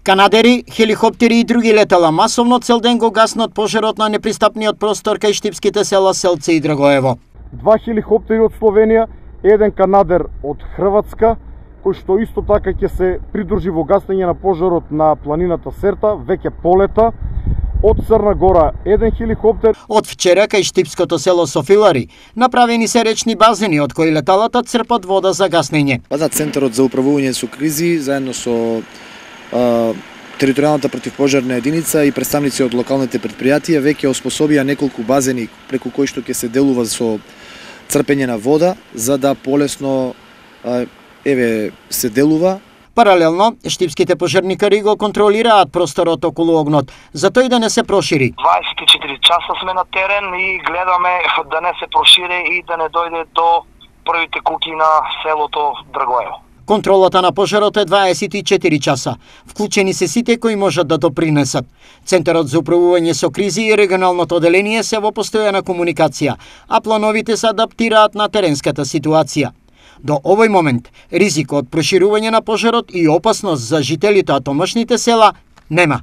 Канадери, хеликоптери и други летала масовно цел ден го гаснат пожарот на непристапниот простор кај штипските села Селце и Драгоево. 2 хеликоптери од Словенија, еден канадер од Хрватска, кој што исто така ќе се придружи во гаснење на пожарот на планината Серта, веќе полета. Од Црна Гора еден хеликоптер. Од вчера кај штипското село Софилари направени се речни базени од кои леталата црпат вода за гаснење. Центарот за управување со кризи заедно со територијалната противпожарна единица и представници од локалните предпријатија веќе оспособија неколку базени преку кои што ќе се делува со црпење на вода за да полесно се делува. Паралелно, штипските пожарникари го контролираат просторот околу огнот, за тој да не се прошири. 24 часа сме на терен и гледаме да не се прошири и да не дојде до првите куки на селото Драгоево. Контролата на пожарот е 24 часа. Вклучени се сите кои можат да допринесат. Центарот за управување со кризи и регионалното оделение се во постојана комуникација, а плановите се адаптираат на теренската ситуација. До овој момент, ризик од проширување на пожарот и опасност за жителите од томашните села нема.